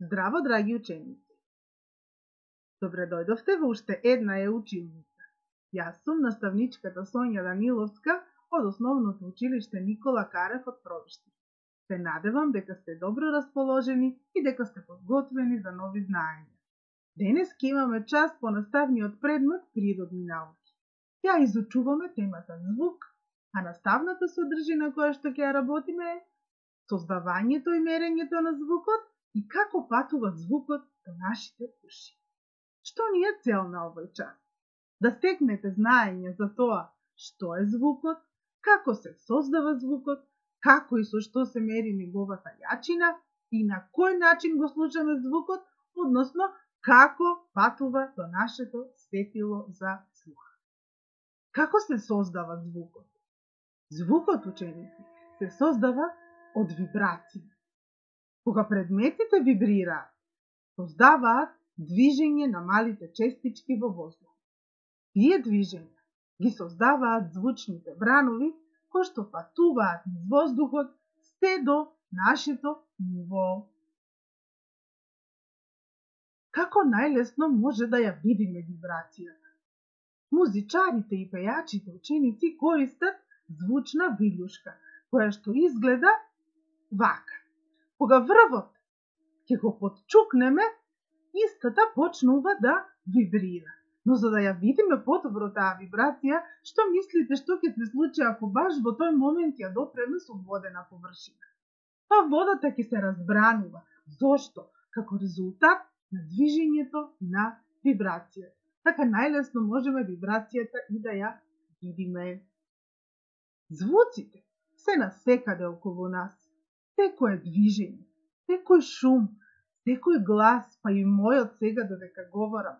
Здраво, драги ученици! Добре дојдовте во уште една училница. Јас сум наставничката Сонја Даниловска од Основното училиште Никола Карев од Провишти. Се надевам дека сте добро расположени и дека сте подготвени за нови знаења. Денес ќе имаме час по наставниот предмет природни науки. Ја изучуваме темата звук, а наставната содржина која што ќе ја работиме е создавањето и мерењето на звукот и како патува звукот до нашите уши. Што ни е цел на овој час? Да стекнете знаење за тоа што е звукот, како се создава звукот, како и со што се мери неговата јачина и на кој начин го слушаме звукот, односно како патува до нашето сетило за слух. Како се создава звукот? Звукот, ученици, се создава од вибрации. Кога предметите вибрираат, создаваат движење на малите честички во воздухот. Тие движења ги создаваат звучните бранови кои што патуваат низ воздухот се до нашето ниво. Како најлесно може да ја видиме вибрацијата? Музичарите и пејачите ученици користат звучна вилјушка, која што изгледа вака. Кога врвот ќе го потчукнеме, истата почнува да вибрира. Но за да ја видиме подобро таа вибрација, што мислите што ќе се случи ако баш во тој момент ја допреме со водена површина? Па водата ќе се разбранува. Зошто? Како резултат на движењето на вибрацијата. Така најлесно можеме вибрацијата и да ја видиме. Звуците се насекаде околу нас. Секој движење, секој шум, секој глас, па и мојот сега додека говорам,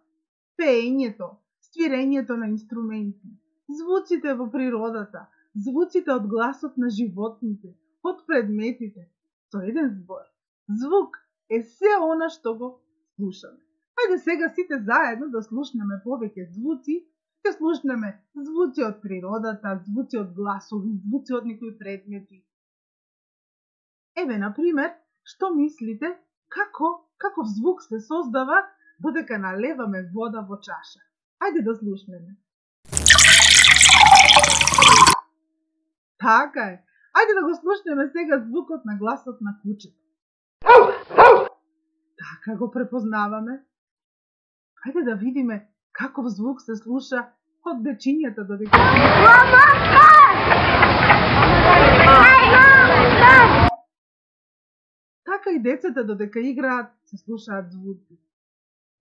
пеењето, свирењето на инструменти, звуците во природата, звуците од гласот на животните, од предметите, со еден збор. Звук е се она што го слушаме. Ајде сега сите заедно да слушнеме повеќе звуци, ќе слушнеме звуци од природата, звуци од гласови, звуци од некои предмети. Еве, например, што мислите каков звук се создава додека налеваме вода во чаша? Ајде да слушнеме. Така е. Ајде да го слушнеме сега звукот на гласот на кучето. Така го препознаваме. Ајде да видиме каков звук се слуша од дечињата додека Така и децата додека играат се слушаат звуци.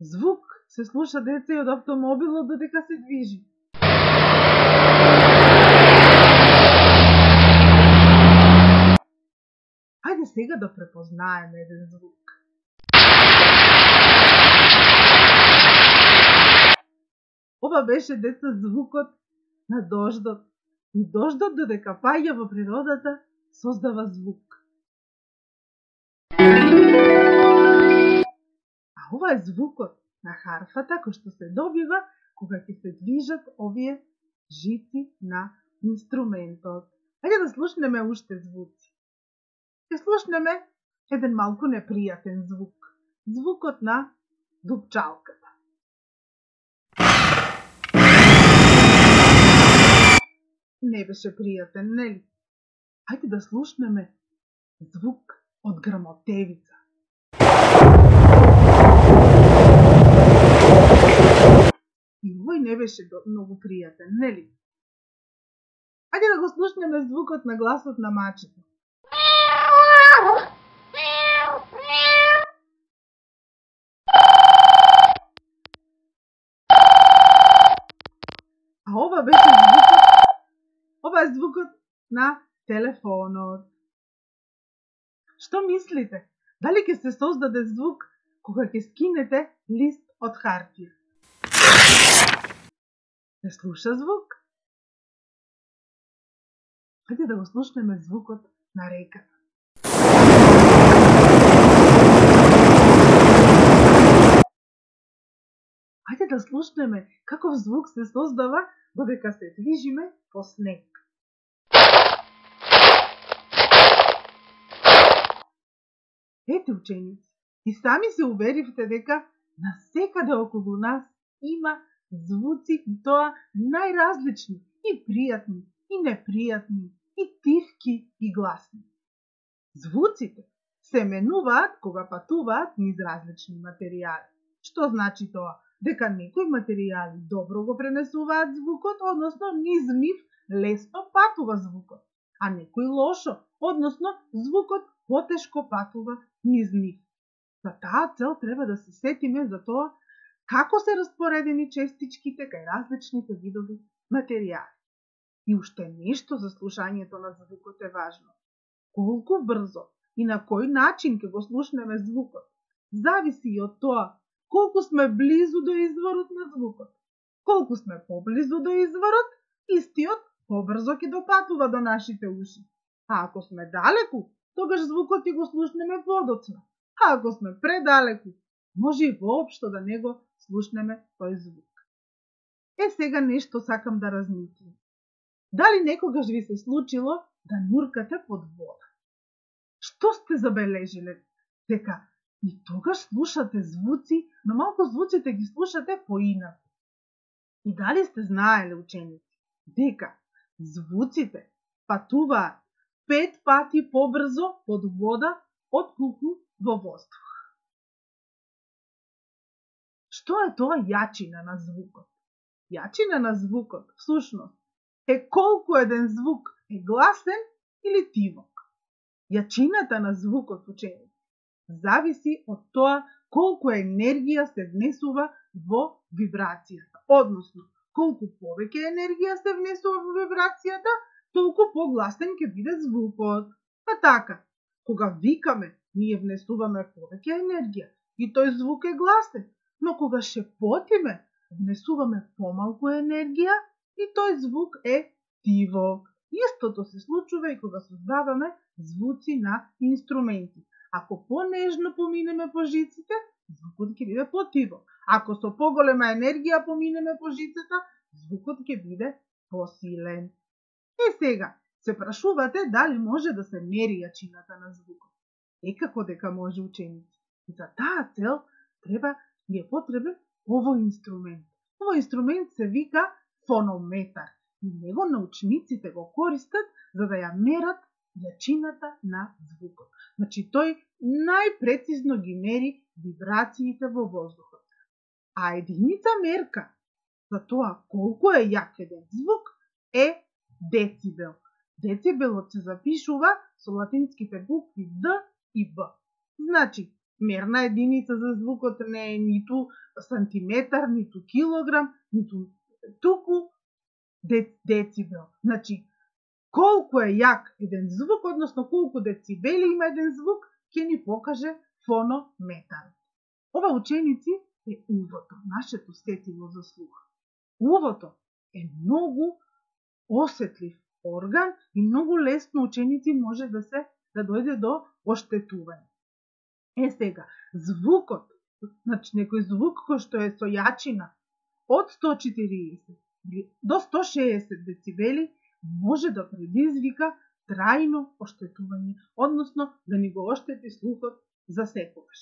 Звук се слуша деца и од автомобилот додека се движи. Ајде сега да препознаеме еден звук. Ова беше, деца, звукот на дождот. И дождот додека паѓа во природата создава звук. А ова е звукот на харфата кој што се добива кога ќе се движат овие жици на инструментот. Ајде да слушнеме уште звуци. Ќе слушнеме еден малку непријатен звук. Звукот на дупчалката. Не беше пријатен, нели? Ајде да слушнеме звук од грмотевица. И овој не беше многу пријатен, нели? Ајде да го слушнеме звукот на гласот на мачето. А ова е звукот на телефонот. Што мислите? Дали ќе се создаде звук кога ќе скинете лист од хартија? Се слуша звук? Ајде да го слушнеме звукот на реката. Ајде да слушнеме каков звук се создава додека се движиме по снег. Ете, ученици, И сами се уверивте дека насекаде околу нас има звуци и тоа најразлични, и пријатни, и непријатни, и тивки, и гласни. Звуците се менуваат кога патуваат низ различни материјали. Што значи тоа? Дека некои материјали добро го пренесуваат звукот, односно низ нив лесно патува звукот, а некои лошо, односно звукот потешко патува низ нив. За таа цел треба да се сетиме за тоа како се распоредени честичките кај различните видови материјали. И уште нешто за слушањето на звукот е важно. Колку брзо и на кој начин ќе го слушнеме звукот, зависи и од тоа колку сме близу до изворот на звукот. Колку сме поблизу до изворот, истиот побрзо ќе допатува до нашите уши. А ако сме далеку, тогаш звукот ќе го слушнеме подоцна. А ако сме предалеку, може и воопшто да не го слушнеме тој звук. Сега нешто сакам да размислим. Дали некогаш ви се случило да нуркате под вода? Што сте забележиле? Дека и тогаш слушате звуци, но малку звуците ги слушате поинаку. И дали сте знаеле, ученици, дека звуците патуваат 5 пати побрзо под вода отколку во воздух? Што е тоа јачина на звукот? Јачина на звукот, всушност, е колку еден звук е гласен или тивок. Јачината на звукот, ученици, зависи од тоа колку енергија се внесува во вибрацијата. Односно, колку повеќе енергија се внесува во вибрацијата, толку погласен ќе биде звукот. Па така, кога викаме, ние внесуваме повеќе енергија и тој звук е гласен, но кога шепотиме, внесуваме помалку енергија и тој звук е тивок. Истото се случува и кога создаваме звуци на инструменти. Ако понежно поминеме по жиците, звукот ќе биде потивок. Ако со поголема енергија поминеме по жицата, звукот ќе биде посилен. Сега, се прашувате дали може да се мери јачината на звукот. Како дека може, ученици. И за таа цел ни е потребен овој инструмент. Овој инструмент се вика фонометар. И него научниците го користат за да ја мерат јачината на звукот. Значи, тој најпрецизно ги мери вибрациите во воздухот. А единица мерка за тоа колку е јак еден звук е децибел. Децибелот се запишува со латинските букви Д и Б. Значи, мерна единица за звукот не е ниту сантиметар, ниту килограм, ниту туку децибел. Значи, колку е јак еден звук, односно колку децибели има еден звук, ќе ни покаже фонометар. Ова, ученици, е увото, нашето сетило за слух. Увото е многу осетлив орган и многу лесно, ученици, може да дојде до оштетување. Сега, звукот, значи некој звук кој што е со јачина од 140 до 160 децибели може да предизвика трајно оштетување, односно да ни го оштети слухот за секогаш.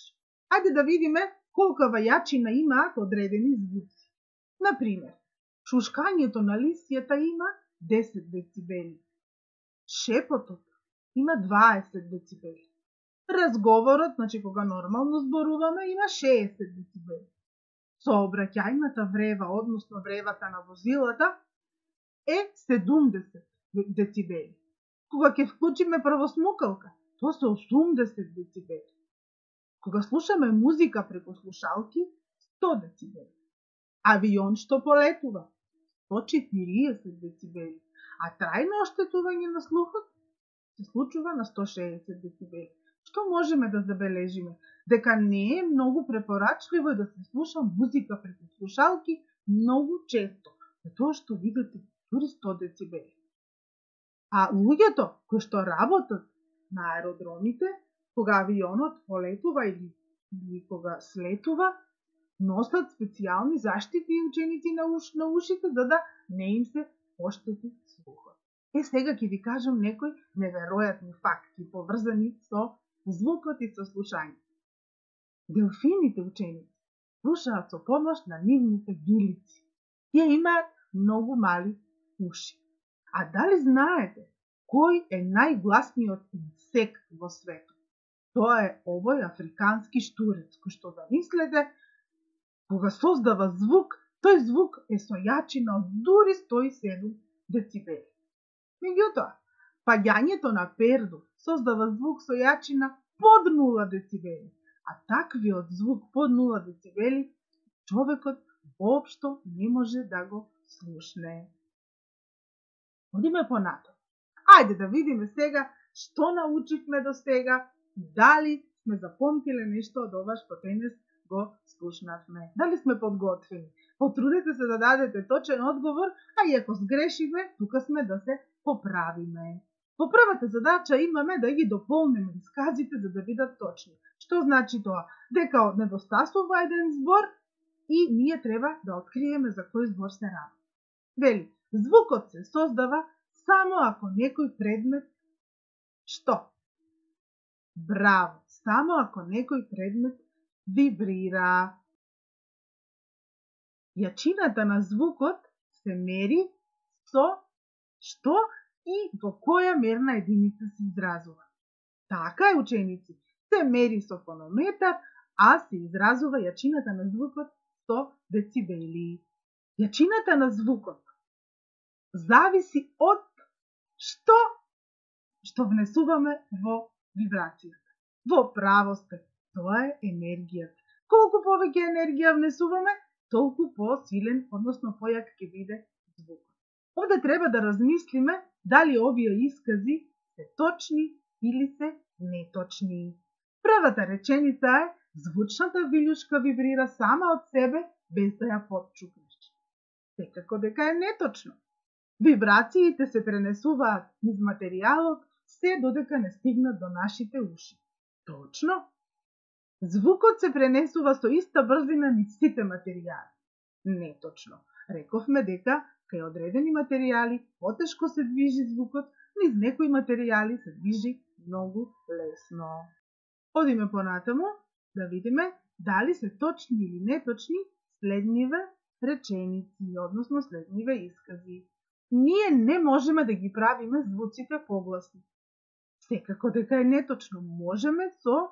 Ајде да видиме колкава јачина имаат одредени звуци. Например, шушкањето на лисјата има 10 децибели. Шепотот има 20 децибели. Разговорот, значи кога нормално зборуваме, има 60 децибели. Сообраќајната врева, односно вревата на возилата, е 70 децибели. Кога ќе вклучиме правосмукалка, тоа се 80 децибели. Кога слушаме музика преку слушалки, 100 децибели. Авион што полетува, 140 децибели. А трајно оштетување на слухот се случува на 160 децибели. Што можеме да забележиме? Дека не е многу препорачливо да се слуша музика преку слушалки многу често, затоа што видите дури 100 децибели. А луѓето кои што работат на аеродромите, кога авионот полетува или кога слетува, носат специјални заштитни ученици на ушите за да не им се оштети слухот. Сега ќе ви кажам некои неверојатни факти поврзани со звукот и со слушање. Делфините ученици слушаат со помош на нивните вилици. Тие имаат многу мали уши. А дали знаете кој е најгласниот инсект во светот? Тоа е овој африкански штурец, кој што замислете, кога создава звук, тој звук е со јачина од дури 107 децибели. Меѓутоа, паѓањето на пердув создава звук со јачина под 0 децибели, а таквиот звук под 0 децибели човекот воопшто не може да го слушне. Одиме понатаму. Ајде да видиме сега што научивме до сега и дали сме запомтиле нешто од ова што денес го слушнавме. Дали сме подготвени? Потрудете се да дадете точен одговор, а и ако сгрешиме, тука сме да се поправиме. По првата задача имаме да ги дополниме исказите за да бидат точни. Што значи тоа? Дека недостасува еден збор и ние треба да откриеме за кој збор се работи. Вели, звукот се создава само ако некој предмет што? Браво! Само ако некој предмет вибрира. Јачината на звукот се мери со што и во која мерна единица се изразува. Така е, ученици, се мери со фонометар, а се изразува јачината на звукот со децибели. Јачината на звукот зависи од што внесуваме во вибрацијата. Во право сте, тоа е енергијата. Колку повеќе енергија внесуваме, толку посилен, односно појак ќе биде звукот. Овде треба да размислиме дали овие искази се точни или се неточни. Првата реченица е: звучната вилјушка вибрира сама од себе без да ја потчукнеш. Секако дека е неточно. Вибрациите се пренесуваат низ материјалот се додека не стигнат до нашите уши. Точно. Звукот се пренесува со иста брзина низ сите материјали. Неточно. Рековме дека кај одредени материјали потешко се движи звукот, низ некои материјали се движи многу лесно. Одиме понатаму да видиме дали се точни или неточни следниве реченици, односно следниве искази. Ние не можеме да ги правиме звуците погласни. Секако дека е неточно. Можеме со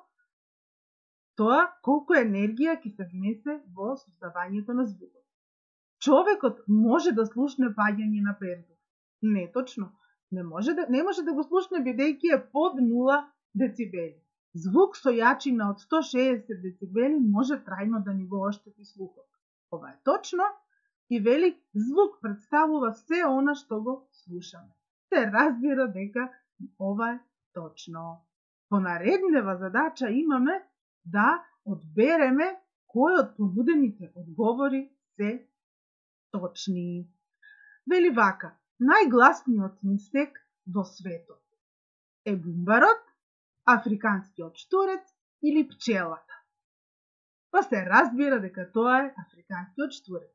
тоа колку енергија ќе се внесе во создавањето на звукот. Човекот може да слушне паѓање на пердув. Неточно. Не може да го слушне бидејќи е под 0 децибели. Звук со јачина од 160 децибели може трајно да ни го оштети слухот. Ова е точно и вели звук представува се она што го слушаме. Се разбира дека ова е точно. По нареднева задача имаме да одбереме кој од понудените одговори се точни. Вели вака, најгласниот инсект во светот е бумбарот, африканскиот штурец или пчелата. Па се разбира дека тоа е африканскиот штурец.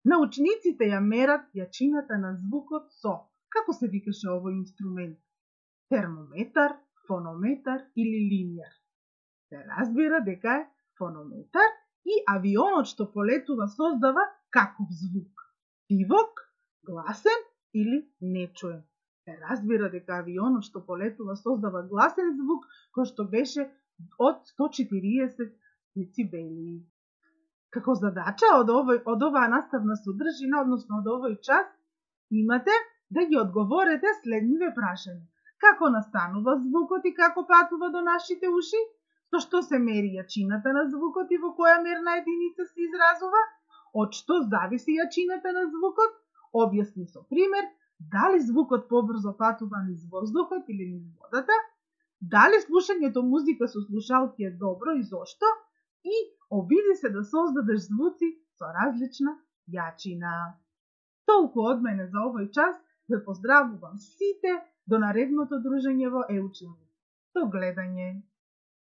Научниците ја мерат јачината на звукот со, како се викаше овој инструмент? Термометар, фонометар или линјар. Се разбира дека е фонометар и авионот што полетува создава каков звук? Тивок, гласен или нечуен. Се разбира дека авионот што полетува создава гласен звук кој што беше од 140 децибели. Како задача од оваа наставна содржина, односно од овој час, имате да ги одговорите следниве прашања. Како настанува звукот и како патува до нашите уши? Со што се мери јачината на звукот и во која мерна единица се изразува? Од што зависи јачината на звукот? Објасни со пример дали звукот побрзо патува низ воздухот или низ водата, дали слушањето музика со слушалки е добро и зошто, и обиди се да создадеш звуци со различна јачина. Толку од мене за овој час, ве поздравувам сите до наредното дружење во Еучење. До гледање!